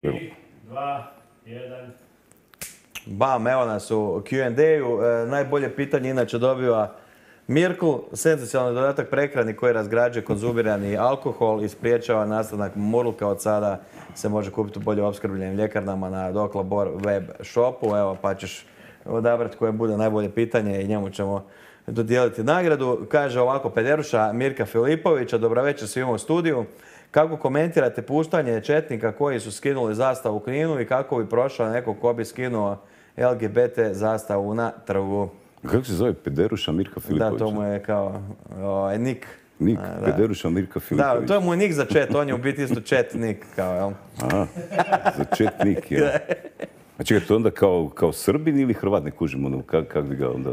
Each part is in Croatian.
3, 2, 1. Bam, evo nas u Q&A-u. Najbolje pitanje inače dobiva Mirkl, senzacionalni dodatak prehrani koji razgrađuje konzumirani alkohol i spriječava nastanak murlka. Od sada se može kupiti u bolje opskrbljenim ljekarnama na Doklabor web shopu. Evo, pa ćeš odabrati koje bude najbolje pitanje i njemu ćemo dodijeliti nagradu. Kaže ovako Pederuša Mirka Filipovića, dobra večer svima u studiju. Kako komentirate puštanje četnika koji su skinuli zastavu u Kninu i kako bi prošao neko ko bi skinuo LGBT zastavu na trgu? Kako se zove Pederuša Mirka Filipovića? Da, to mu je kao nik. Nik, Pederuša Mirka Filipovića. Da, to je mu nik za chat, on je u biti isto chat nik, kao, jel? Aha, za chat nik, jel? A čekaj, to onda kao Srbin ili Hrvat, ne kužim, ono, kako bi ga onda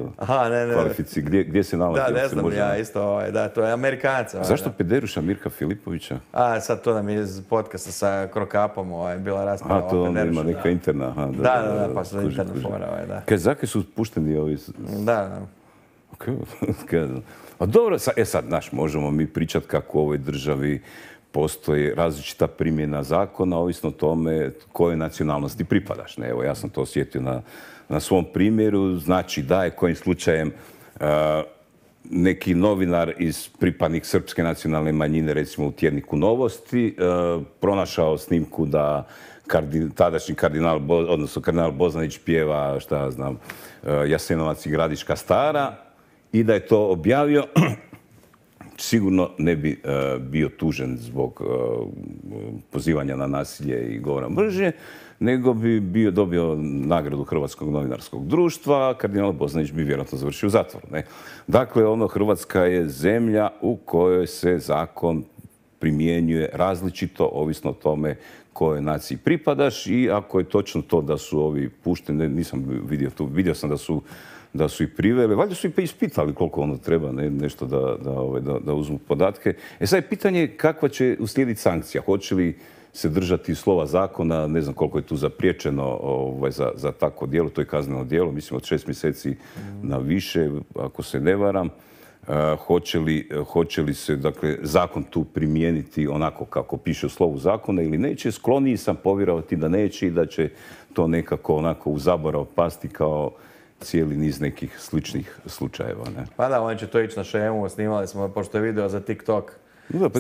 kvalifici, gdje se nalazi? Da, ne znam ja isto, da, to je Amerikanac. Zašto Pederuša Mirka Filipovića? Sad to nam je iz podcasta sa Krokapom bila rasprava o Pederušu. To onda ima Pederušu, neka interna, aha. Da, pa su interna fora, da. Kaj, zakaj su pušteni ovi? Da. A dobro, sad, znaš, možemo mi pričati kako u ovoj državi postoji različita primjena zakona, ovisno o tome kojoj nacionalnosti pripadaš. Evo, ja sam to osjetio na svom primjeru. Znači da je kojim slučajem neki novinar pripadnik srpske nacionalne manjine, recimo u tjedniku Novosti, pronašao snimku da tadašnji kardinal Bozanić pjeva, šta ja znam, Jasenovac i Gradiška Stara, i da je to objavio, sigurno ne bi bio tužen zbog pozivanja na nasilje i govora mržnje, nego bi dobio nagradu Hrvatskog novinarskog društva, a kardinal Bozanić bi vjerojatno završio u zatvoru. Dakle, Hrvatska je zemlja u kojoj se zakon primjenjuje različito, ovisno o tome kojoj naciji pripadaš, i ako je točno to da su ovi pušteni, nisam vidio sam da su ih priveli, valjda su ih pa ispitali koliko ono treba, nešto da uzmu podatke. Sad je pitanje kakva će uslijediti sankcija. Hoće li se držati slova zakona, ne znam koliko je tu zapriječeno za takvo djelo, to je kazneno djelo, mislim od 6 mjeseci na više, ako se ne varam. Hoće li se, dakle, zakon tu primijeniti onako kako piše u slovu zakona ili neće? Skloniji sam povjerovati da neće i da će to nekako onako u zaborav pasti kao cijeli niz nekih sličnih slučajeva. Pa da, oni će to ići na šemu, snimali smo, pošto je video za TikTok,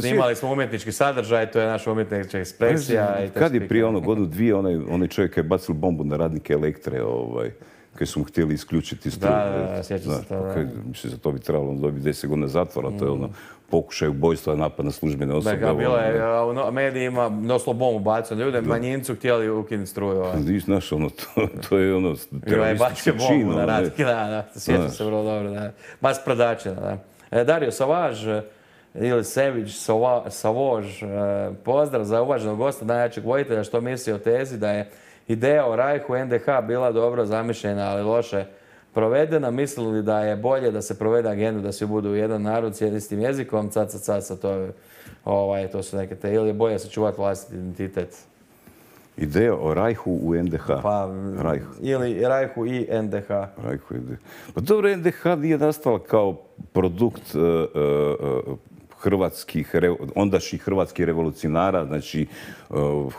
snimali smo umjetnički sadržaj, to je naša umjetnička ekspresija. Kad je prije godinu dvije, onaj čovjek je bacil bombu na radnike Elektre, koji su mu htjeli isključiti struju. Da, sjećam se to. Mislim, za to bi trebalo dobiti 10 godina zatvora, to je pokušaj ubojstva, napad na službene osobe. Da, bilo je, u medijima doslovno bombu bacao ljude, manjincu htjeli ukinuti struju. Znaš, to je teroristički čin. Bombu na radnike, da, sjećam se vrlo dobro, da. Bas predačina, da. Dario Savaž, ili Sević Savož, pozdrav za uvaženog gosta, najjačeg vojitelja, što misli o tezi da je ideja o Rajhu NDH bila dobro zamišljena, ali loše provedena. Mislili da je bolje da se provede agendu, da svi budu jedan narod s istim jezikom, caca, to su neke te, ili je bolje sačuvati vlastiti identitet? Ideja o Rajhu u NDH. Ili Rajhu i NDH. Pa dobro, NDH nije nastala kao produkt ondašnjih hrvatskih revolucionara, znači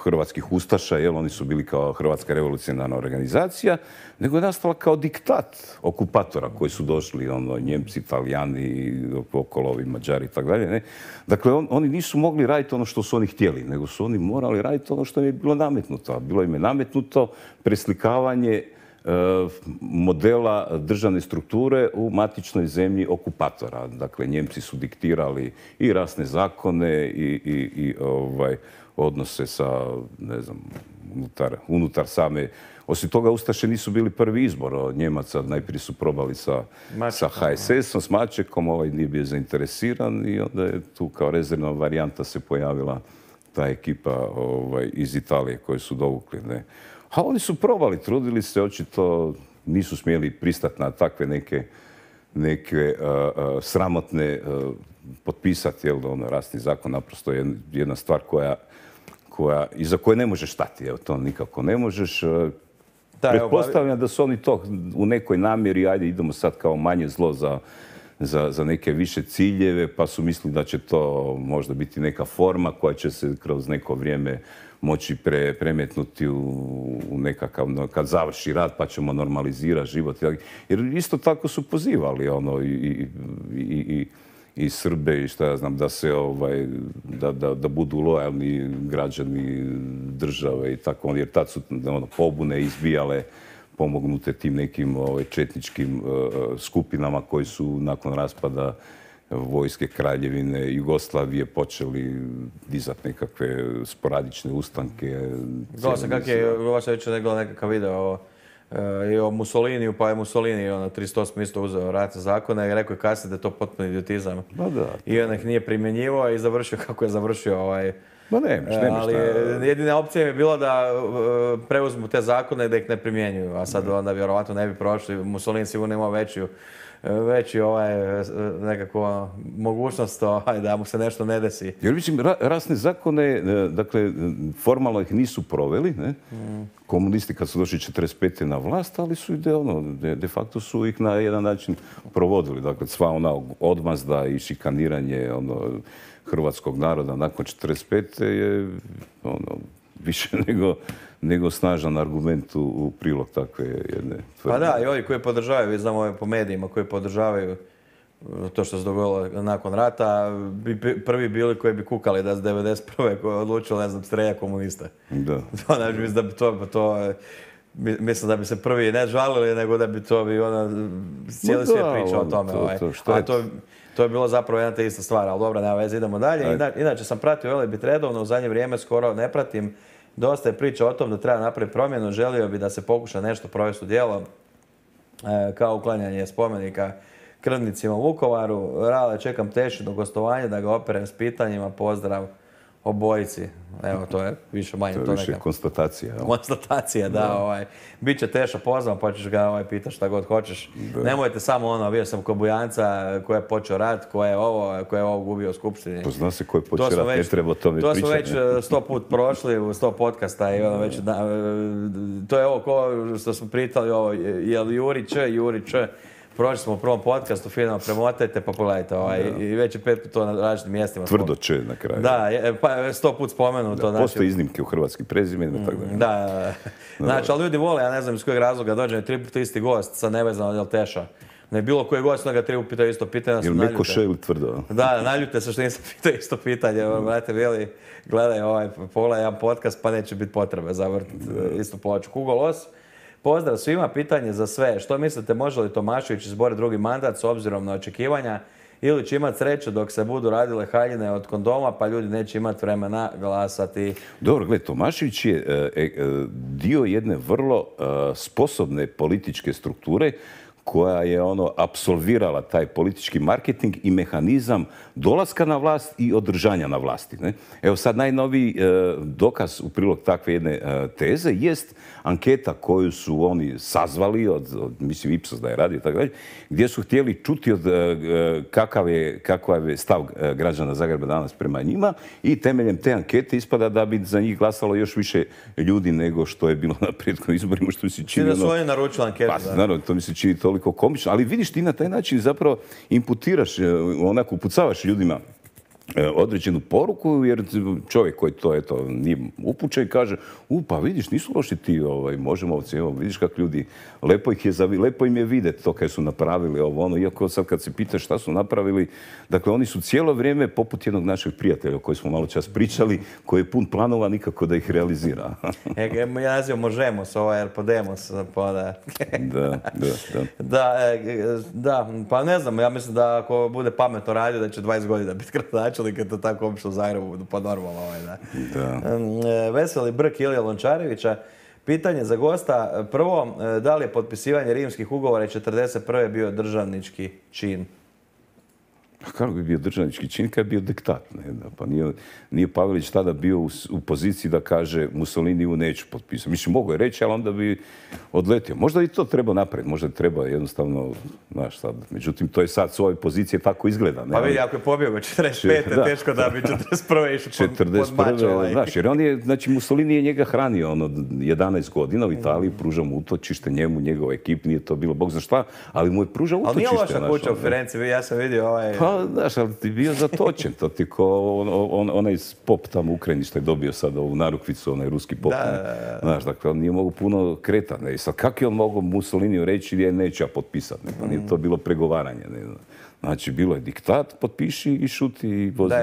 hrvatskih ustaša, jer oni su bili kao Hrvatska revolucionarna organizacija, nego je nastala kao diktat okupatora koji su došli, Njemci, Italijani, okolovi, Mađari i tako dalje. Dakle, oni nisu mogli raditi ono što su oni htjeli, nego su oni morali raditi ono što im je bilo nametnuto. Bilo im je nametnuto preslikavanje modela državne strukture u matičnoj zemlji okupatora. Dakle, Njemci su diktirali i rasne zakone i odnose sa, ne znam, unutar same. Osim toga, ustaše nisu bili prvi izbor od Njemaca. Najprije su probali sa HSS-om, s Mačekom, nije bio zainteresiran i onda je tu kao rezervna varijanta se pojavila ta ekipa iz Italije koju su dovukli. A oni su probali, trudili se, očito nisu smjeli pristati na takve neke sramotne potpisati, rasni zakon naprosto je jedna stvar iza koje ne možeš stati, to nikako ne možeš. Pretpostavljam da su oni to u nekoj namjeri, ajde idemo sad kao manje zlo za neke više ciljeve, pa su mislili da će to možda biti neka forma koja će se kroz neko vrijeme moći premetnuti u nekakav, kad završi rat pa ćemo normalizirati život. Jer isto tako su pozivali i Srbe i šta ja znam, da se da budu lojalni građani države i tako, jer tad su pobune izbijale pomognute tim nekim četničkim skupinama koji su nakon raspada vojske Kraljevine Jugoslavije počeli dizati nekakve sporadične ustanke. Znao sam kak je, vaša već gledao nekakav video i o Mussoliniju, pa je Mussolini 38. isto uzeo ratne zakone i rekao je kasnije da je to potpuno idiotizam. I on ih nije primjenjivao i završio kako je završio ali jedina opcija je bila da preuzmu te zakone i da ih ne primjenjuju, a sad onda vjerovatno ne bi prošli. Mussolini sigurno imao veći nekako mogućnost da mu se nešto ne desi. Jer mislim, rasne zakone, dakle, formalno ih nisu proveli, ne? Komunisti kad su došli 45. na vlast, ali su de facto su ih na jedan način provodili. Dakle, sva ona odmazda i šikaniranje hrvatskog naroda nakon 45. je više nego snažan argument u prilog takve jedne tvrdnje. Pa da, i ovi koji podržavaju, vi znamo po medijima, koji podržavaju to što se dogodilo nakon rata, bi prvi bili koji bi kukali da s 91. koji je odlučilo, ne znam, strelja komuniste. Da. Mislim da bi mislim da bi se prvi ne žalili, nego da bi to bi cijeli svijet pričao o tome. To je bilo zapravo jedna te ista stvar, ali dobro, nema veze, idemo dalje. Inače sam pratio Velebit redovno, u zadnje vrijeme skoro ne pratim. Dosta je priča o tom da treba napraviti promjenu, želio bi da se pokuša nešto provesti u djelo, kao uklanjanje spomenika krvnicima u Vukovaru. Rale, čekam Tešino gostovanje da ga operem s pitanjima, pozdrav obojici. Evo, to je više manje to više konstatacija. Konstatacija, da. Biće Teša pozvan, pa ćeš ga pitati šta god hoćeš. Nemojte samo bio sam kod Bujanca koji je počeo rat, ko je ovo gubio u skupštini. To zna se ko je počeo rat, ne treba o tome pričati. To smo već 100 put prošli, u 100 podcasta i već, to je ovo ko što smo pritali, je li Juri Č, prošli smo u prvom podcastu, fino premotajte pa pogledajte i već je 5 put to na različitim mjestima. Tvrdo Č na kraju. Da, pa 100 put spomenuto. Postoje iznimke u hrvatskim prezimenima, tako da. Da. Znači, ali ljudi vole, ja ne znam iz kojeg razloga dođe 3 puta isti gost, sad nevezano od Teša. Ne bilo koji gost, onda ga 3 puta pitao isto pitanje. Ili Mekoše ili Tvrdo. Da, naljute se što nisam pitao isto pitanje. Brate, Vili, gledaj pogledaj jedan podcast pa neće biti potrebe zavrtiti istu ploču. Hugo Los. Pozdrav svima, pitanje za sve. Što mislite, može li Tomašević izboriti drugi mandat s obzirom na očekivanja ili će imati sreću dok se budu radile haljine od kondoma pa ljudi neće imati vremena glasati? Dobro, gledaj, Tomašević je dio jedne vrlo sposobne političke strukture koja je apsolvirala taj politički marketing i mehanizam dolaska na vlast i održanja na vlasti. Ne? Evo sad najnoviji dokaz u prilog takve jedne teze jest anketa koju su oni sazvali, mislim Ipsos da je radio, tako dalje, gdje su htjeli čuti kakav je stav građana Zagreba danas prema njima i temeljem te ankete ispada da bi za njih glasalo još više ljudi nego što je bilo na prethodnim izborima, što mi se čini... Da su oni naručili anketu. Pa, naravno, to mi se čini toliko komično, ali vidiš ti na taj način zapravo imputiraš, onako upucavaš ljudima određenu poruku, jer čovjek koji to nije upućen kaže, pa vidiš, nisu loši ti možemovci, evo vidiš kako ljudi, lepo im je vidjeti to kaj su napravili iako sad kad se pitaš šta su napravili, dakle oni su cijelo vrijeme poput jednog našeg prijatelja o kojem smo malo čas pričali, koji je pun planova nikako da ih realizira. Ja nazivam Možemos, jer Podemos, pa da. Da, pa ne znam, ja mislim da ako bude pametno radio da će 20 godina biti gradonačelnik, je to tako obično u Zagrebu, pa normalno Veseli Brk Ilija Lončarevića. Pitanje za gosta. Prvo, da li je potpisivanje rimskih ugovora 1941. bio državnički čin? A kako bi bio državnički čin kad je bio diktat? Ne? Pa nije Pavelić tada bio u poziciji da kaže Mussoliniju neću potpisati. Mislim, mogu je reći, ali onda bi odletio. Možda i to treba napraviti, možda treba jednostavno, znaš sad. Međutim, to je sad s ove pozicije tako izgleda. Ne? Pa vidi, ako je pobjegao 45. teško da bi 41. išao pod mač. Znaš, jer on je, znači Mussolini je njega hranio 11 godina u Italiji, pružao mu utočište njemu, njegov ekip, nije to bilo bog za šta, ali mu je pružao utočište. Ali nije loša kuća u Firenci, ja sam vidio Pa, znaš, ali ti bio zatočen, to ti ko onaj pop tamo u Ukrajini što je dobio sad ovu narukvicu, onaj ruski pop. Znaš, dakle, on nije mogu puno kretati. I sad, kako je on mogao Mussoliniju reći da neću ja potpisati? Pa nije to bilo pregovaranje. Ne? Znači, bilo je diktat, potpiši i šuti i vozi.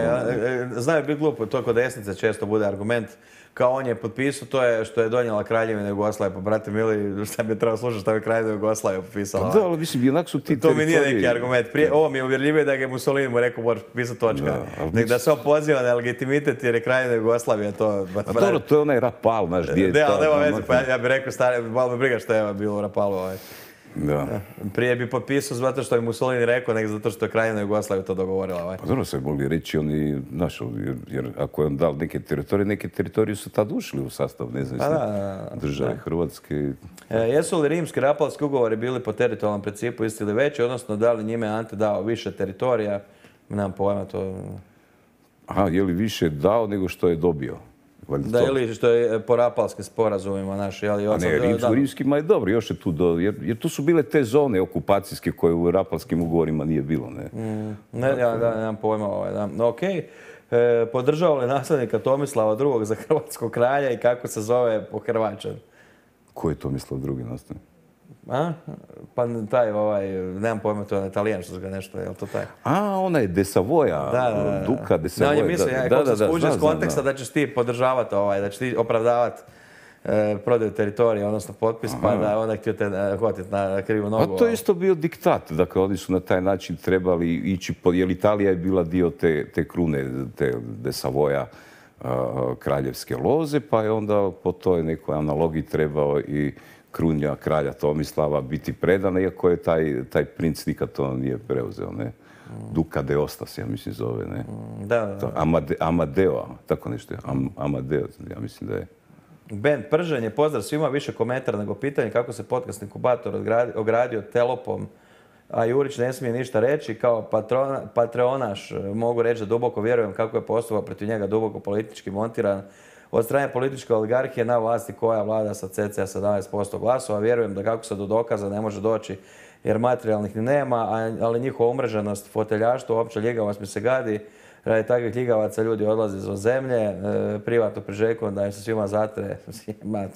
Znaju biti glupo, to kod desnice često bude argument. Kao on je potpisao, to je što je donijela Kraljevina Jugoslavije. Pa, brate mili, šta bi trebao slušati šta bi Kraljevina Jugoslavije potpisala? Pa da, ali mislim, jednak su ti to mi nije neki argument. Ovo mi je uvjerljivije da je Mussolini mu rekao moraš potpisati točka. Nek da se on poziva na legitimitet jer je Kraljevina Jugoslavije to... A dobro, to je onaj Rapal, znaš, gdje je to... Da, ali nema veze, pa ja bih rekao, malo me briga što je bilo u Rapalu. Da. Prije bi potpisao zato što je Mussolini rekao, nek zato što je Kraljevina Jugoslavija to dogovorila. Pa dobro se mogli reći oni, znaš, jer ako je on dal neke teritorije su tad ušli u sastav nezavisne države Hrvatske. Jesu li rimski rapalski ugovori bili po teritorijalnom principu isti ili veći, odnosno da li njime Ante dao više teritorija? Nemam pojma to... Aha, je li više dao nego što je dobio? Da, ili što je po rapalskim sporazumima naši. A ne, rimskima je dobro, još je tu jer tu su bile te zone okupacijske koje u rapalskim ugovorima nije bilo. Nemam pojma. Okej. Podržao li nasljednika Tomislava II. Za hrvatskog kralja i kako se zove po Hrvačan? Ko je Tomislav II. nasljednik? Pa taj, nemam pojma, to je Italijan što ga nešto, je li to taj? Onaj de Savoja, Duka de Savoja. On je mislio, kako se skuži iz konteksta da ćeš ti podržavati, da ćeš ti opravdavati prodaju teritorija, odnosno potpis, pa da onda htio te hvatiti na krivu nogu. Pa to je isto bio diktat, dakle oni su na taj način trebali ići, jer Italija je bila dio te krune, te de Savoja, kraljevske loze, pa je onda po toj nekoj analogiji trebao i krunja kralja Tomislava biti predana, iako je taj princ nikad to nije preuzeo, ne? Duka de Ostas, ja mislim zove, ne? Da. Amadeo, tako nešto je. Amadeo, ja mislim da je. Ben Pržen je pozdrav svima, više komentara nego pitanje kako se podcast inkubator ogradio telopom, a Jurić ne smije ništa reći. Kao patreonaš mogu reći da duboko vjerujem kako je postupak protiv njega duboko politički montiran od strane političke oligarhije na vlasti koja vlada sa cca 17% glasova. Vjerujem da kako se do dokaza ne može doći jer materijalnih ni nema, ali njihova umreženost, foteljaštvo, opća ljigavost mi se gadi. Radi takvih ljigavaca ljudi odlaze izvan zemlje, privatno priželjkujem da im se svima zatre,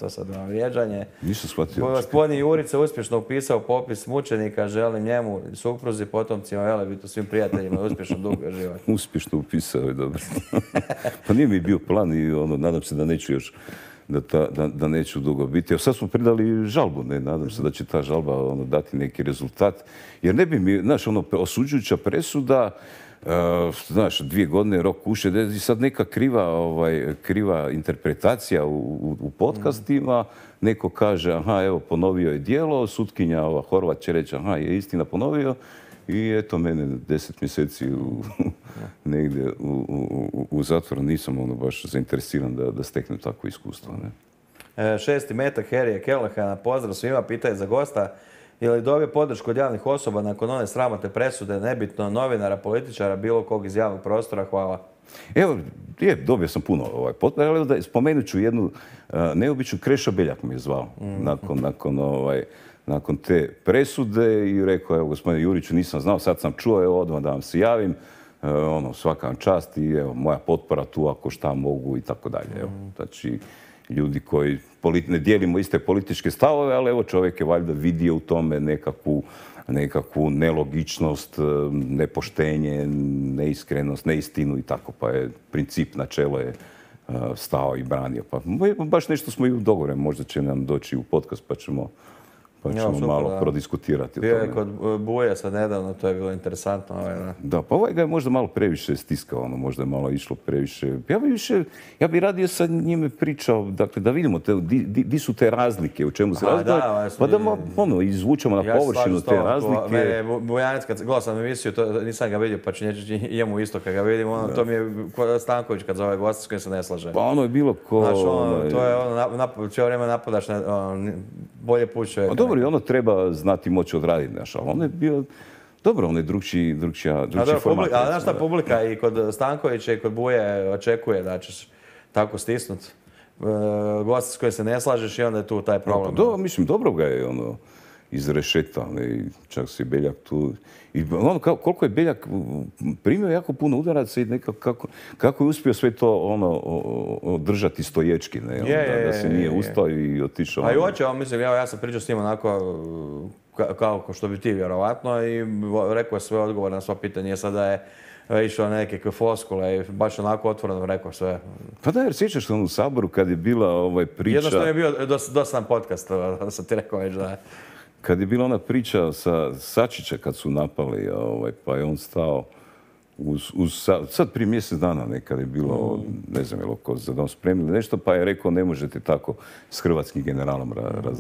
to sad vam vrijeđanje. Nisam shvatio. Gospodin Jurić se uspješno upisao popis mučenika, želim njemu, supruzi, potomcima, Velebitu, svim prijateljima, uspješno dug život. Uspješno upisao je, dobro. Pa nije mi bio plan i nadam se da neću još da neću dugo biti. Evo sad smo predali žalbu, ne? Nadam se da će ta žalba dati neki rezultat. Jer ne bi mi, znaš, osuđujuća presuda, znaš, 2 godine rok kuše, i sad neka kriva interpretacija u podcastima, neko kaže, aha, evo, ponovio je djelo, sutkinja Horvat će reći, aha, je istina ponovio, i eto mene 10 mjeseci negdje u zatvoru. Nisam baš zainteresiran da steknem takvo iskustvo. Ne? 6. metak Harryja Kellehana, pozdrav svima, pitanje za gosta. Je li dobio podršku od javnih osoba nakon one sramotne presude, nebitno novinara, političara, bilo kog iz javnog prostora? Hvala. Evo, dobio sam puno potpora, ali spomenut ću jednu neobičnu. Krešo Beljak mi je zvao nakon te presude i rekao, evo, gospodine Juriću, nisam znao, sad sam čuo, evo, odmah da vam se javim, svaka vam čast i evo, moja potpora tu ako šta mogu i tako dalje. Znači, ljudi koji ne dijelimo iste političke stavove, ali evo, čovjek je valjda vidio u tome nekakvu nelogičnost, nepoštenje, neiskrenost, neistinu i tako, pa je princip, načelo je stao i branio. Pa baš nešto smo i u dogovoru, možda će nam doći u podcast pa pa Ja, ćemo super, malo da. prodiskutirati o Bio je tome. kod Buje sad nedavno, to je bilo interesantno. Da. Da, pa ovaj ga je možda malo previše stiskao, ono, možda je malo išlo previše. Ja bi radio sa njime pričao, dakle, da vidimo di su te razlike, u čemu se razlikuju, pa da izvučemo na površinu te razlike. Mene je Bujanec, kad gledao sam emisiju, nisam ga vidio, pa ću njemu isto kad ga vidim, to mi je Stanković kad zove gosta s kojim se ne slaže. Pa ono je bilo ko... Znači, to je cijelo vrijeme napadaš, bolje put čovjeka. A dobro, i ono treba znati moći odraditi, znaš, ali on je bio... Dobro, on je drugčija format. Ali znaš šta, publika i kod Stankovića i kod Buje očekuje da ćeš tako stisnut gosta s kojim se ne slažeš i onda je tu taj problem. Mislim, dobro ga je ono izrešetao, čak se i Beljak tu... I ono, koliko je Beljak primio jako puno udaraca i nekako kako je uspio sve to držati stoječki, da se nije ustao i otišao. A i oče, mislim, ja sam pričao s njim onako kao što bi ti vjerovatno i rekao je sve odgovore na sva pitanja. Je sada je išao na neke floskule i baš onako otvoreno rekao sve. Pa da, jer sjećaš se u Saboru kad je bila priča... Jednostavno je bio dosta podcast, da sam ti rekao već da je. Kad je bila ona priča sa Sačića kad su napali, pa je on stao sad prije mjesec dana nekad je bilo, ne znam, je li oko za dom spremili nešto, pa je rekao ne možete tako s hrvatskim generalom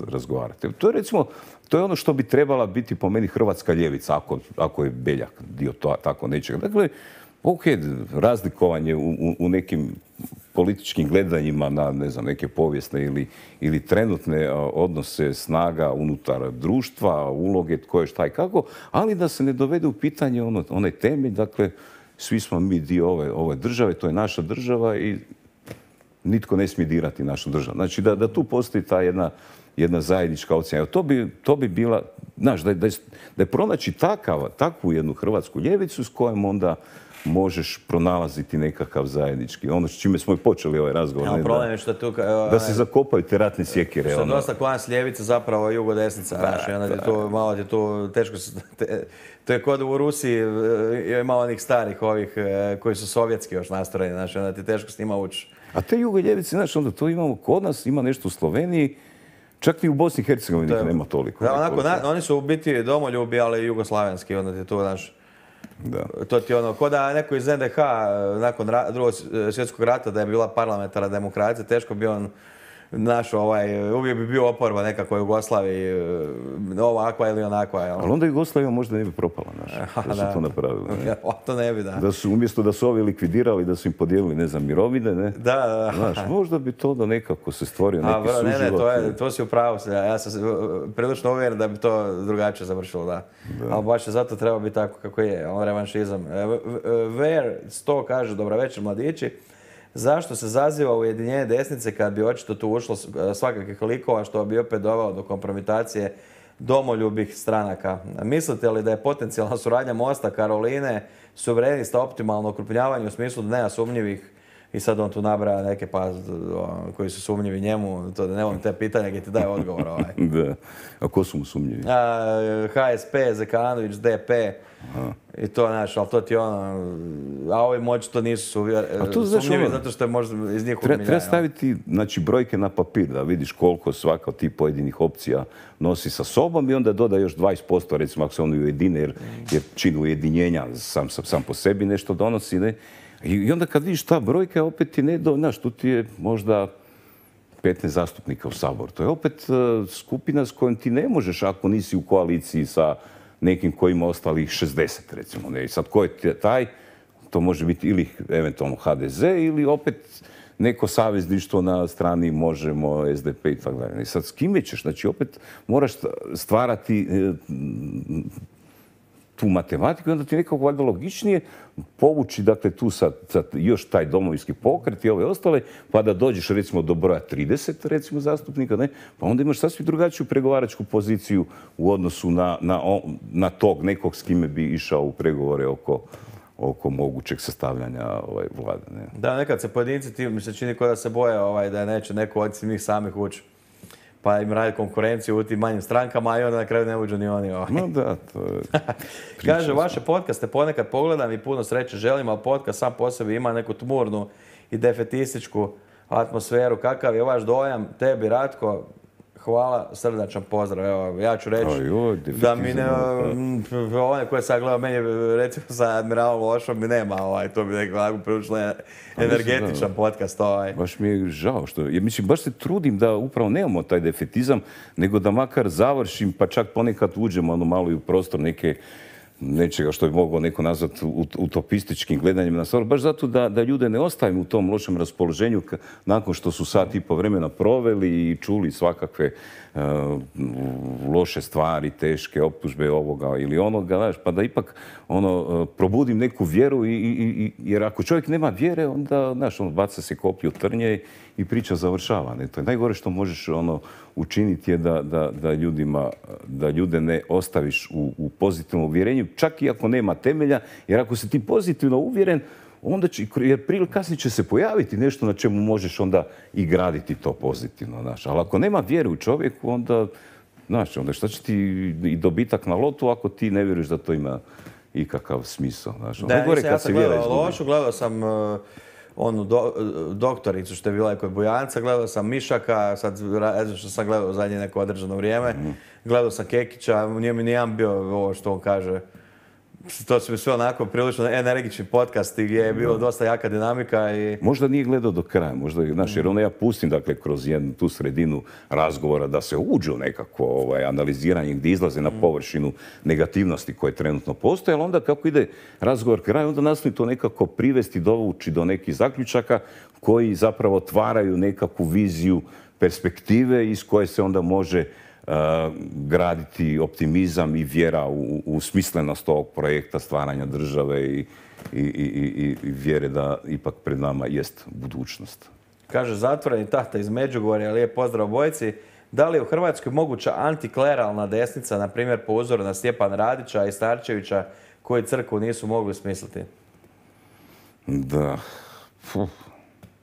razgovarati. To je recimo, to je ono što bi trebala biti po meni hrvatska ljevica, ako je Beljak dio tako nečega. Dakle, ok, razlikovanje u nekim političkim gledanjima na, ne znam, neke povijesne ili trenutne odnose snaga unutar društva, uloge, tko je šta i kako, ali da se ne dovede u pitanje onaj temelj, dakle, svi smo mi dio ove države, to je naša država i nitko ne smije dirati našu državu. Znači, da tu postoji ta jedna zajednička ocjena. To bi bila, znaš, da je pronaći takvu jednu hrvatsku ljevicu s kojom onda možeš pronalaziti nekakav zajednički. Ono s čime smo i počeli ovaj razgovor. Problem je što tu... Da se zakopaju te ratne sjekire. Što je dosta klans ljevica, zapravo jugo-desnica. Malo ti tu teško... To je kod u Rusiji, je malo onih starih ovih koji su sovjetski još nastrojeni. Znači, onda ti teško s njima ući. A te jugo-ljevice, znači, onda to imamo kod nas, ima nešto u Sloveniji, čak i u Bosni i Hercegovini nema toliko. Da, onako, oni su u biti domoljubi, ali jugoslavenski. Onda ti tu, znaš... Da. To ti ono, ko da neko iz NDH nakon drugog svjetskog rata da je bila parlamentarna demokracija, teško bi on našao uvijek bi bio oporba nekako u Jugoslaviji, ovakva ili onakva. Ali onda Jugoslavija možda ne bi propala, da su to napravili. To ne bi, da. Da su, umjesto da su ovi likvidirali, da su im podijelili, ne znam, mirovine, ne? Da. Znaš, možda bi to da nekako se stvorio neki suživot. Ne, to si u pravu. Ja sam prilično uvjeren da bi to drugačije završilo, da. Ali baš je zato treba biti tako kako je, revanšizam. Ver 100 kaže, dobro večer mladići. Zašto se zaziva ujedinjenje desnice kad bi očito tu ušlo svakakvih likova što bi opet dovelo do kompromitacije domoljubih stranaka? Mislite li da je potencijalna suradnja Mosta, Karoline, suverenista optimalno okrupnjavanje u smislu da nema sumnjivih i sad on tu nabraja neke koji su sumnjivi njemu, to da ne volim te pitanja gdje ti daje odgovor. Da. A ko su mu sumnjivi? HSP, Zekanović, DP. I to, znaš, ali to ti a ovi moći to nisu sumnjivi zato što je možda iz njih umiljaja. Treba staviti, znači, brojke na papir da vidiš koliko svaka od tih pojedinih opcija nosi sa sobom i onda doda još 20%, recimo, ako se oni ujedine, jer čin ujedinjenja sam po sebi nešto donosi, ne? I onda kad vidiš ta brojka, opet ti ne znaš, tu ti je možda 15 zastupnika u Saboru. To je opet skupina s kojom ti ne možeš ako nisi u koaliciji sa nekim koji ima ostalih 60, recimo. Ne? I sad ko je taj, to može biti ili eventualno HDZ ili opet neko savezništvo na strani Možemo, SDP i tako dalje. I sad s kime ćeš? Znači opet moraš stvarati tu matematiku i onda ti nekako valjda logičnije povući, dakle, tu sad još taj domovinski pokret i ove ostale, pa da dođeš recimo do broja 30, recimo, zastupnika, ne? Pa onda imaš sasvim drugačiju pregovaračku poziciju u odnosu na tog nekog s kime bi išao u pregovore oko mogućeg sastavljanja vlade. Ne? Da, nekad se pojedinci, ti mi se čini kao da se boje da neće neko od njih samih ući. Pa im radi konkurenciju u tim manjim strankama i onda na kraju ne uđu ni oni. No da, to je... Kaže, vaše podcaste ponekad pogledam i puno sreće želim, ali podcast sam po sebi ima neku tmurnu i defetističku atmosferu. Kakav je vaš dojam? Tebi, Ratko, hvala, srdačan pozdrav. Evo, ja ću reći da mi ne, one koje sam gledao, meni recimo sa Admiralom Lošom mi nema, to bi nekako prilično energetičan podcast. Baš mi je žao što, jer mislim, baš se trudim da upravo nemamo taj defetizam, nego da makar završim, pa čak ponekad uđemo malo i u prostor nečega što bi mogao neko nazvati utopističkim gledanjem na stvar, baš zato da ljude ne ostavimo u tom lošem raspoloženju nakon što su sat i po vremena proveli i čuli svakakve loše stvari, teške optužbe ovoga ili onoga, znaš, pa da ipak probudim neku vjeru jer ako čovjek nema vjere, onda, znaš, baca se koplje u trnje i priča završava. Ne? To je najgore što možeš učiniti je da ljude ne ostaviš u pozitivnom uvjerenju, čak i ako nema temelja, jer ako si ti pozitivno uvjeren, onda će, jer prije ili kasnije će se pojaviti nešto na čemu možeš onda i graditi to pozitivno, znaš. Ali ako nema vjere u čovjeku, onda, znaš, onda šta će ti i dobitak na lotu ako ti ne vjeruješ da to ima ikakav smisao, znaš. Da, ja sam gledao Lošu, gledao sam onu doktoricu što je bila kod Bujanca, gledao sam Mišaka, sad što sam gledao zadnje neko određeno vrijeme, gledao sam Kekića, nije mi nijedan bio ovo što on kaže. To su mi sve onako prilično energični podcasti gdje je bilo dosta jaka dinamika i... Možda nije gledao do kraja, možda, znaš, jer ja pustim, dakle, kroz jednu tu sredinu razgovora da se uđe u nekako analiziranje gdje izlaze na površinu negativnosti koje trenutno postoje, ali onda kako ide razgovor kraj, onda nastoji to nekako privesti, dovući do nekih zaključaka koji zapravo otvaraju nekakvu viziju perspektive iz koje se onda može graditi optimizam i vjera u smislenost ovog projekta stvaranja države i vjere da ipak pred nama jest budućnost. Kaže zatvoreni tahta iz Međugorja, lijep pozdrav obojici. Da li je u Hrvatskoj moguća antikleralna desnica, na primjer po uzoru na Stjepana Radića i Starčevića, koji crkvu nisu mogli smisliti? Da.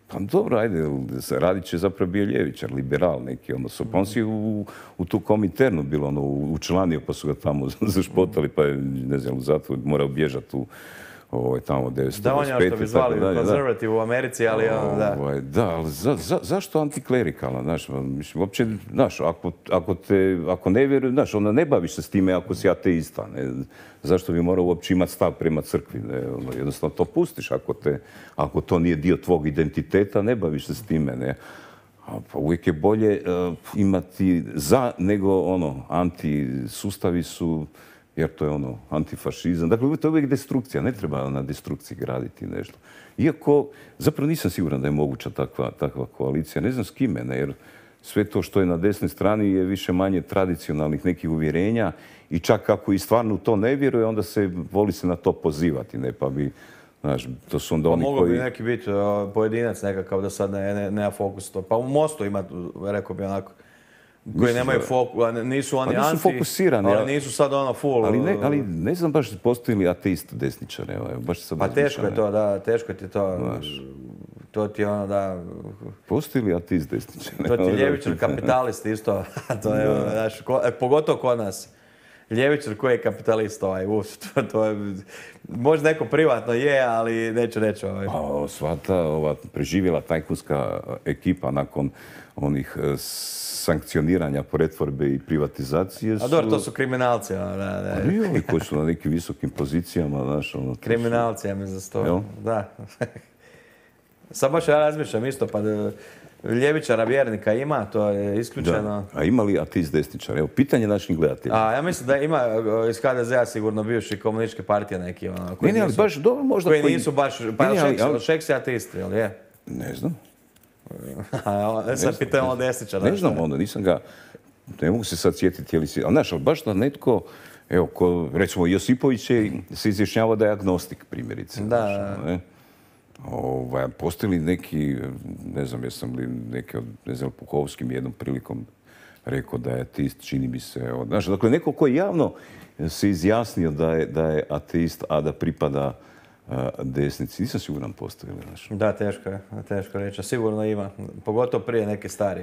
Pa dobro, ajde, Radić je zapravo bio ljevičar, liberal neki, pa on si u tu Kominternu bilo, učlanio, pa su ga tamo zašpotali, pa je, ne znam, u zatvor morao bježati tamo 1995. Da, on je što bi zvali konzervativ u Americi, ali da. Da, ali zašto antiklerikalan, znaš, mislim, uopće, znaš, ako ne vjeruješ, znaš, onda ne baviš se s time ako si ateista, ne, zašto bi morao uopće imati stav prema crkvi, ne, jednostavno to pustiš, ako to nije dio tvog identiteta, ne baviš se s time, ne. Pa uvijek je bolje imati za nego anti-sustavi su, jer to je antifašizam. Dakle, to je uvijek destrukcija, ne treba na destrukciji graditi nešto. Iako, zapravo nisam siguran da je moguća takva koalicija, ne znam s kime, ne, jer sve to što je na desnoj strani je više manje tradicionalnih nekih uvjerenja i čak ako i stvarno u to ne vjeruje, onda se voli se na to pozivati, ne, pa bi, znaš, to su onda oni koji... Mogao bi neki biti pojedinac nekakav da sad nema fokus to. Pa u Mostu ima, rekao bi onako, koji nemaju fokus, nisu oni anti, fokusirani, ali nisu sad full. Ali ne znam baš postoji li ateist desničar, baš sam pa teško je to, da, teško ti to. To ti je da... Postoji li ateist desničar? To ti je ljevičar kapitalist isto, to je, znaš, pogotovo kod nas. Ljevičar koji je kapitalist, to je, možda neko privatno je, ali neću reći. Pa sva ta preživjela tajkunska ekipa nakon onih sankcioniranja pretvorbe i privatizacije su... A dobro, to su kriminalci. I oni koji su na nekim visokim pozicijama, znaš, kriminalci, ja mi za sto. Da. Sad baš ja razmišljam isto, pa ljevičara vjernika ima, to je isključeno. Da. A ima li ateist desničar? Evo, pitanje našim gledateljima. Ja mislim da ima iz HDZ-a sigurno bivši komunističke partije neki. Ne, ali baš dobro možda... Koji nisu baš... Pa Šeks je ateist, jel je? Ne znam. Sad pitamo desničara. Ne znam onda, nisam ga... Ne mogu se sad sjetiti, ali znaš, ali baš da netko... Evo, recimo Josipović se izjašnjava da je agnostik, primjerice. Da. Postoji li neki, ne znam, jesam li neki od, ne znam, Puhovskim jednom prilikom rekao da je ateist, čini mi se. Znaš, dakle, neko koji javno se izjasnio da je ateist, a da pripada desnici. Nisam siguran postoji li, znaš. Da, teško reći. A sigurno ima. Pogotovo prije neke stari.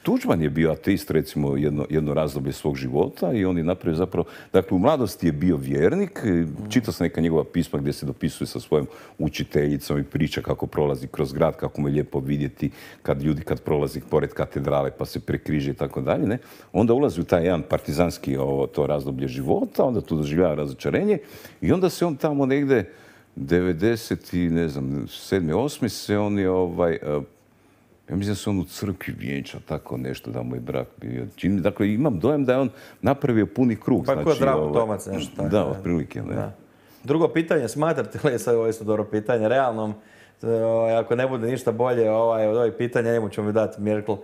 Tuđman je bio ateist, recimo, jedno razdoblje svog života i on je napravio zapravo... Dakle, u mladosti je bio vjernik. Čitao sam neka njegova pisma gdje se dopisuje sa svojom učiteljicom i priča kako prolazi kroz grad, kako mu je lijepo vidjeti kad prolazi pored katedrale pa se prekriže i tako dalje, ne? Onda ulazi u taj jedan partizanski to razdoblje života, onda tu doživljava razočarenje i onda se on tamo negdje 90 i ne znam, 7. 8. se on je ja mislim da se on u crkvi vjenča, tako nešto, da mu je brak bio. Dakle, imam dojam da je on napravio puni krug. Pa ko Zdravko Tomac, nešto tako. Da, otprilike, ne. Da. Drugo pitanje, smatrate li, sad ovo je isto dobro pitanje, realnom, ako ne bude ništa bolje od ovih pitanja, njemu ćemo mi dati Merkel.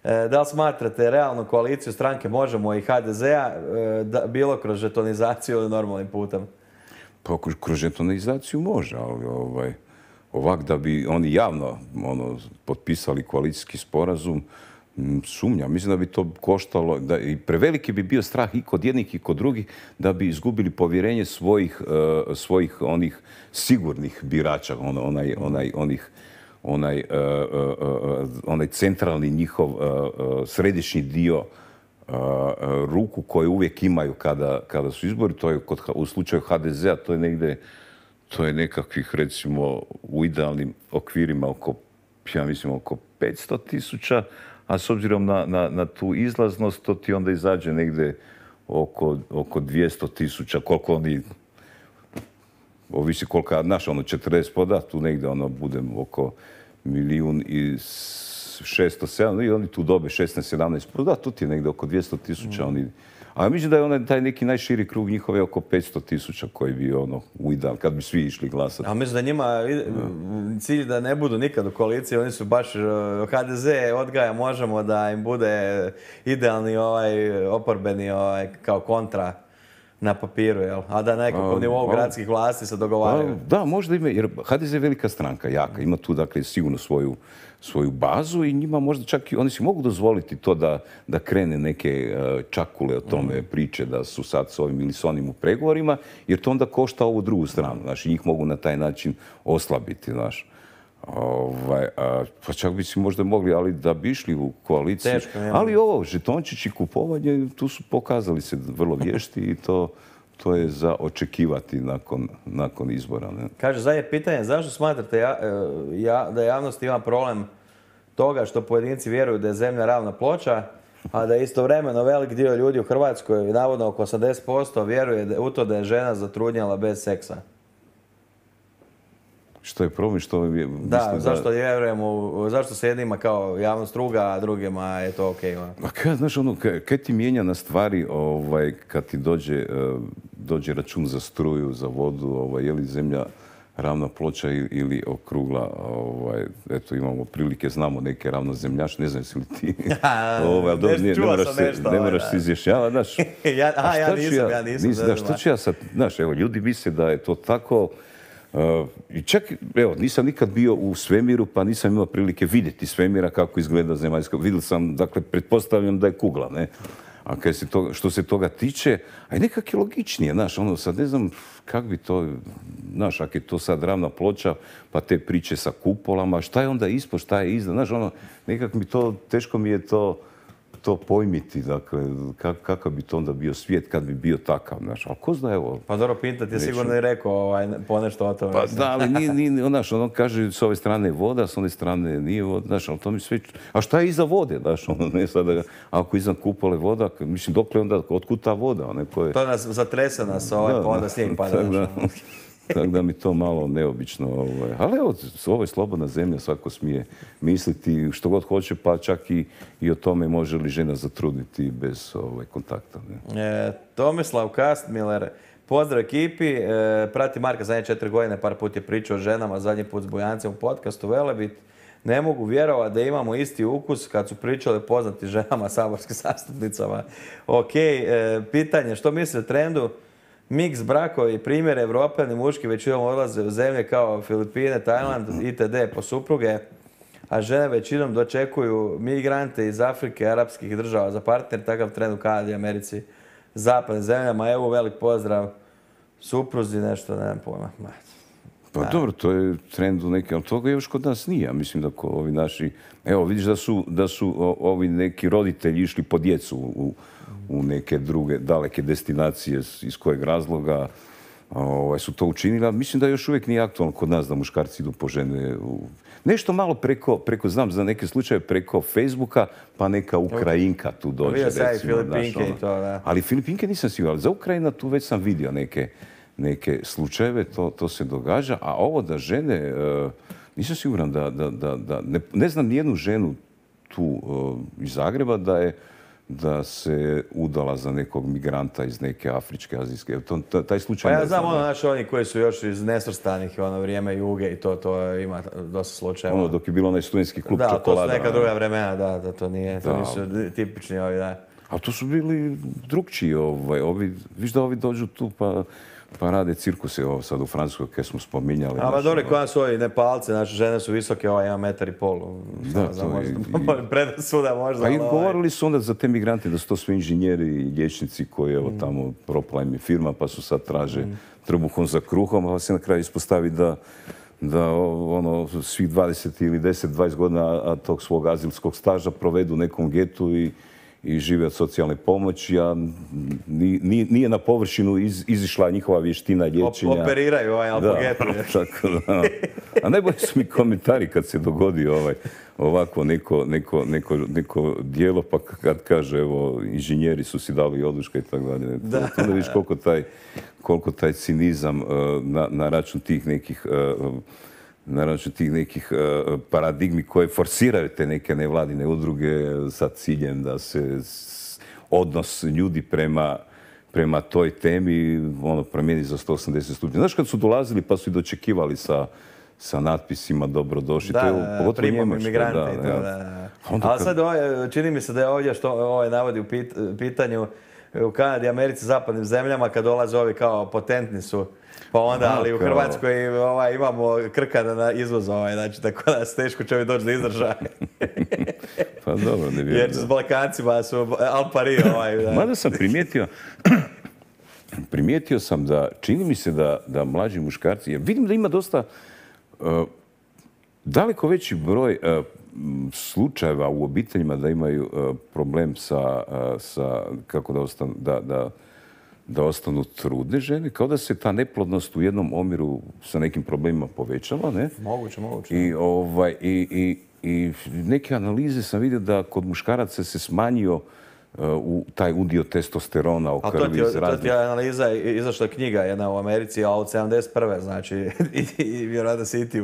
Da li smatrate realnu koaliciju stranke Možemo i HDZ-a bilo kroz žetonizaciju ili normalnim putem? Pa kroz žetonizaciju može, ali ovak da bi oni javno potpisali koalicijski sporazum, sumnjam. Mislim da bi to koštalo, i preveliki bi bio strah i kod jednih i kod drugih da bi izgubili povjerenje svojih onih sigurnih birača, onaj centralni njihov središnji dio ruku koje uvijek imaju kada su izbori. To je u slučaju HDZ-a to je nekakvih, recimo, u idealnim okvirima ja mislim oko 500.000, a s obzirom na tu izlaznost, to ti onda izađe negdje oko 200.000, koliko oni, ovisi koliko, znaš, 40 tu negdje bude oko 1.600.000, i oni tu dobe 16-17 da, tu ti je negdje oko 200.000 oni. A mislim da je taj neki najširi krug njihove oko 500.000 koji bi u ideal, kad bi svi išli glasati. A mislim da njima cilj da ne budu nikad u koaliciji, oni su baš HDZ odgaja Možemo da im bude idealni oporbeni kao kontra na papiru, jel? A da nekako u nivou gradskih vlasti se dogovaraju. Da, možda ima, jer HDZ je velika stranka, jaka. Ima tu, dakle, sigurno svoju bazu i njima možda čak i oni si mogu dozvoliti to da krene neke čakule o tome priče da su sad s ovim ili s onim u pregovorima, jer to onda košta ovu drugu stranu, znaš, i njih mogu na taj način oslabiti, znaš. Pa čak bi si možda mogli, ali da bi išli u koaliciju. Teško, ali žetončić i kupovanje, tu su pokazali se vrlo vješti i to je za očekivati nakon izbora. Ne? Kaže, zadnje pitanje, zašto smatrate da javnost ima problem toga što pojedinci vjeruju da je zemlja ravna ploča, a da istovremeno velik dio ljudi u Hrvatskoj, navodno oko 80%, vjeruje u to da je žena zatrudnjala bez seksa? Što je problem, što je... Da, zašto vjerujemo, zašto se jednima kao javnost ruga, a drugima je to okej? Znaš, kaj ti mijenja na stvari kad ti dođe račun za struju, za vodu, je li zemlja ravna ploča ili okrugla? Eto, imamo prilike, znamo neke ravnozemljaše, ne znam si li ti... Ne moraš se izjašnjavati, znaš. Ja nisam. Što ću ja sad, znaš, evo, ljudi misle da je to tako... I čak, evo, nisam nikad bio u svemiru, pa nisam imao prilike vidjeti svemira kako izgleda zemaljska. Vidio sam, dakle, pretpostavljam da je kugla, ne? A što se toga tiče, a je nekak je logičnije, znaš, sad ne znam kak bi to, znaš, ako je to sad ravna ploča, pa te priče sa kupolama, šta je onda ispod, šta je iznad, znaš, nekak teško mi je to pojmiti, dakle, kakav bi to onda bio svijet kad bi bio takav, znaš, ali ko zna, evo... Pa dobro, Pinta ti je sigurno i rekao ponešto o tome. Pa da, ali znaš, on kaže s ove strane je voda, s one strane nije voda, znaš, ali to mi sve... A šta je iza vode, znaš, ne sada, ako iznad kupole voda, mislim, dokle onda, otkud ta voda, koje... To nas zatrese nas, pa onda snijeg pada, znaš. Tako da mi to malo neobično. Ali evo, ovo je slobodna zemlja, svako smije misliti što god hoće, pa čak i o tome može li žena zatrudniti bez kontakta. Tomislav Kastmiler, pozdrav ekipi, prati Marka zadnje 4 godine, par put je pričao o ženama, zadnji put s Bujancem u podcastu Velebit. Ne mogu vjerovati da imamo isti ukus kad su pričali poznati ženama, saborskim zastupnicama. Ok, pitanje, što mislite o trendu? Miks brakovi, primjer, Evropljani muški većinom odlaze u zemlje kao Filipine, Tajland, itd. po supruge, a žene većinom dočekuju migrante iz Afrike, arapskih država za partner, takav trend u Kanadi, Americi, zapadnim zemljama. Evo, velik pozdrav supruzi, nešto, nemam pojma. Pa dobro, to je trend u neke, ali toga još kod nas nije. Ja mislim da ovi naši, evo vidiš da su ovi neki roditelji išli po djecu u neke druge daleke destinacije iz kojeg razloga su to učinili, ali mislim da još uvijek nije aktualno kod nas da muškarci idu po žene. Nešto malo preko, znam za neke slučaje preko Facebooka, pa neka Ukrajinka tu dođe. Vidio sam i Filipinke i to, da. Ali Filipinke nisam siguran, ali za Ukrajina tu već sam vidio neke slučajeve, to se događa, a ovo da žene, nisam siguran ne znam nijednu ženu tu iz Zagreba da se udala za nekog migranta iz neke afričke, azijske. Taj slučaj pa ja znam oni koji su još iz nesvrstanih vrijeme Juge i to ima dosta slučajeva. Dok je bilo onaj studentski klub čokolada. Da, to su neka druga vremena, da, to nisu tipični ovi, da. A to su bili drugčiji, viš da ovi dođu tu pa rade cirkuse sad u Francuskoj, koje smo spominjali. A dobro, koja su ovi Nepalci, znači žene su visoke, ima 1,5 metra. Da, predrasuda možda. Pa i govorili su onda za te migrante da su to sve inženjeri i liječnici koji tamo propala im je firma, pa su sad traže trbuhom za kruhom, a se na kraju ispostavi da svih 20 ili 10-20 godina tog svog azilskog staža provedu u nekom getu i žive od socijalne pomoći, a nije na površinu izišla njihova vještina liječenja. Operiraju alpogetu. Tako da. A najbolji su mi komentari kad se dogodi ovako neko dijelo, pa kad kaže, evo, inženjeri su si dali oduška i tako dalje. Onda vidiš koliko taj cinizam na račun tih nekih paradigmi koje forsiraju te neke nevladine udruge sa ciljem da se odnos ljudi prema toj temi promijeni za 180 stupnjeva. Znaš kad su dolazili pa su i dočekivali sa natpisima dobrodošli. Da, primamo imigranti. Ali sad čini mi se da je ovdje što navodi u pitanju u Kanadi, Americi, zapadnim zemljama, kad dolaze ovi kao potentni su, pa onda, ali u Hrvatskoj imamo krkana na izvoz, znači tako da se teško će doći do izražaja. Pa dobro, ne vjerujem. Jer s Balkancima su al pari. Mada sam primijetio sam da, čini mi se da mlađi muškarci, jer vidim da ima dosta, daleko veći broj slučajeva u obiteljima da imaju problem sa kako da ostanu trudne žene, kao da se ta neplodnost u jednom omjeru sa nekim problemima povećava, ne? Moguće. I neke analize sam vidio da kod muškaraca se smanjio taj udio testosterona u krvi iz raznih. To ti je analiza, izašla knjiga jedna u Americi, a od 71. znači, i vjerojatno si i ti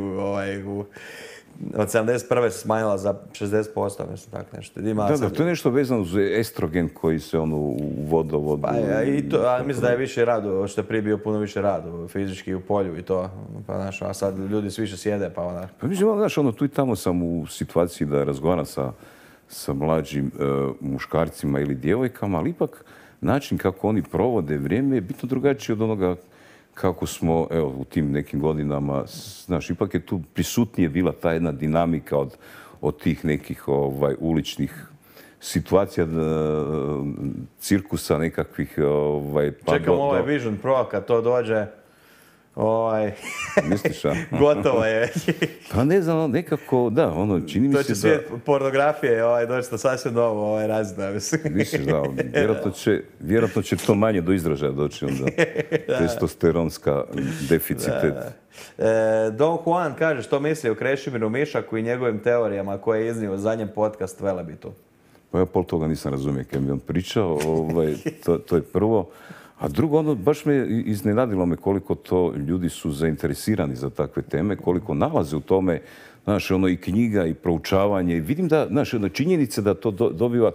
od 71. se smanjila za 60%, mislim, tako nešto. Da, to je nešto vezano uz estrogen koji se u vodovodu... Pa mislim da je više radu, što je prije bio puno više radu, fizički u polju i to. Pa, znaš, a sad ljudi svi više sjede, pa onda... Pa mislim, znaš, tu i tamo sam u situaciji da razgovaram sa mlađim muškarcima ili djevojkama, ali ipak način kako oni provode vrijeme je bitno drugačiji od onoga kako smo, evo, u tim nekim godinama, znaš, ipak je tu prisutnije bila ta jedna dinamika od tih nekih uličnih situacija, cirkusa nekakvih... Čekamo Vision Pro, kad to dođe, misliš, a? Gotovo je. Pa ne znam, nekako, da, čini mi se da... To će svijet pornografije doći na sasvim novo razina, mislim. Misliš, da, vjerojatno će to manje do izražaja doći onda. Testosteronska deficitet. Don Juan kaže što misli o Krešimiru Mišaku i njegovim teorijama koje je iznio u zadnjem podcast Velebitu. Pa ja pol toga nisam razumio kad mi on pričao, to je prvo. A drugo, baš me iznenadilo koliko to ljudi su zainteresirani za takve teme, koliko nalaze u tome, znaš, i knjiga i proučavanje. Vidim da, znaš, činjenica da to dobiva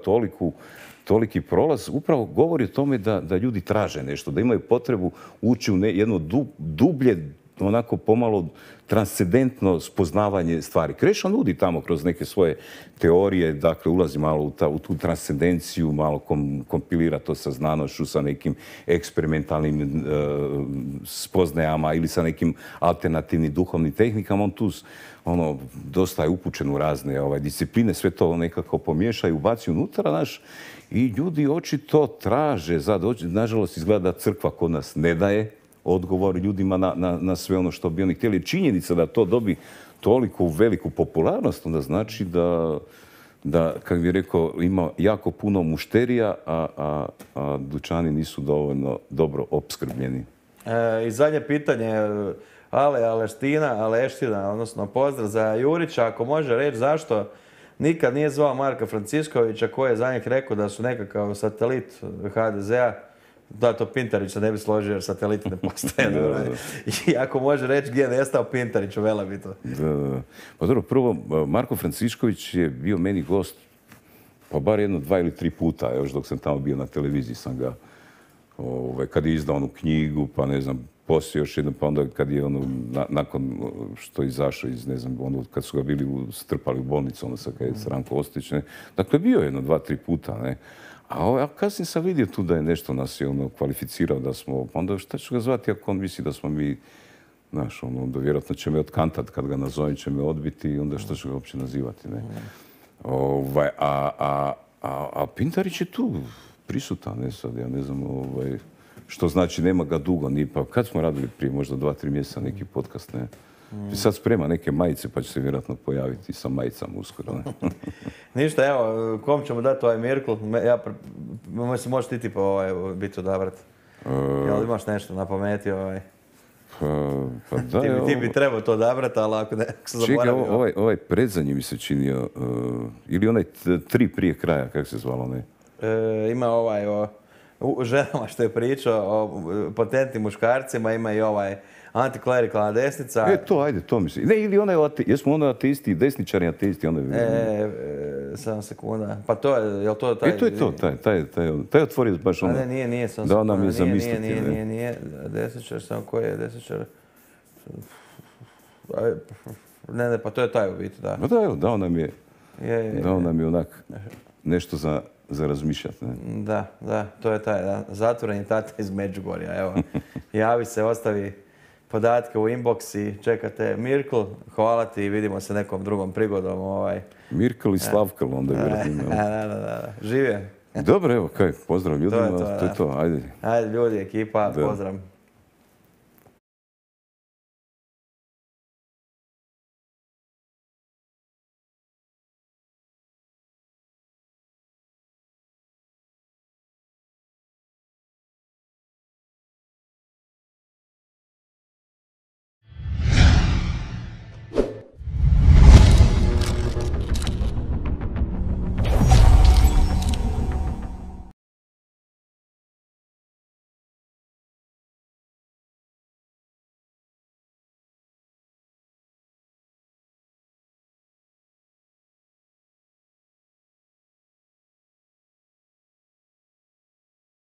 toliki prolaz, upravo govori o tome da ljudi traže nešto, da imaju potrebu ući u jedno dublje, onako pomalo transcendentno spoznavanje stvari. Krešo nudi tamo kroz neke svoje teorije, dakle ulazi malo u tu transcendenciju, malo kompilira to sa znanošću, sa nekim eksperimentalnim spoznajama ili sa nekim alternativnim duhovnim tehnikama. On tu dosta je upućen u razne discipline, sve to nekako pomiješa i ubaci unutra, znaš, i ljudi očito traže, nažalost izgleda da crkva kod nas ne daje odgovor ljudima na sve ono što bi oni htjeli. Činjenica da to dobi toliko veliku popularnost, onda znači da, kako bih rekao, ima jako puno mušterija, a dućani nisu dovoljno dobro opskrbljeni. I zadnje pitanje, Aleština, odnosno pozdrav za Jurića, ako može reći zašto nikad nije zvao Marka Franciškovića koji je za njih rekao da su nekakav satelit HDZ-a. Da, to Pintarić se ne bi složio jer sateliti ne postoje. I ako može reći gdje je nestao Pintarić u Velabitu. Pa dobro, prvo, Marko Francišković je bio meni gost pa bar 1, 2 ili 3 puta, još dok sam tamo bio na televiziji sam ga, kad je izdao onu knjigu, pa ne znam, poslije još jednom, pa onda kad je nakon što je izašao iz, ne znam, kad su ga bili strpali u bolnicu, onda sad kad je Ranko Ostojić, ne. Dakle, bio je 1, 2, 3 puta, ne. A kasnije sam vidio tu da je nešto nas je kvalificirao da smo, pa onda šta ću ga zvati ako on misli da smo mi, znaš, onda vjerojatno će me otkantat kad ga nazovem, će me odbiti i onda što ću ga uopće nazivati, ne. A Pintarić je tu prisutan, ne sad, ja ne znam, što znači nema ga dugo, ni pa kad smo radili prije možda 2-3 mjeseca neki podcast, ne. Sad sprema neke majice pa će se vjerojatno pojaviti sa majicama uskoro. Ne? Ništa, evo, kom ćemo dati ovaj Mirkl? Mislim, možeš ti biti odabrat. Jel imaš nešto na pameti? Pa da, ti bi trebao to odabrati, ali ako se zaboravio. Čekaj, ovaj predzadnji mi se činio, ili onaj 3 prije kraja, kako se zvalo, ne? Ima o ženama što je pričao, o potentnim muškarcima, ima i antiklerikalna desnica. To misli. Ne, ili onaj, jesmo ono ateisti, desničari ateisti, onda... 7 sekunda. Pa to je, jel to taj... To je to, taj otvorio baš ono... Nije 7 sekunda. Dao nam je zamisliti. Nije, desničar, samo koji je desničar... Ne, pa to je taj u biti, da. Pa da, evo, dao nam je onak nešto za razmišljati, ne? Da, to je taj, da. Zatvoreni tata iz Međugorja, evo. Javi se, ostavi podatke u inbox i čekate Mirkl. Hvala ti i vidimo se nekom drugom prigodom. Mirkl i Slavkl, onda je vjerojatno. Da. Živje. Dobro, evo, pozdrav ljudima, to je to, ajde. Ajde ljudi, ekipa, pozdrav.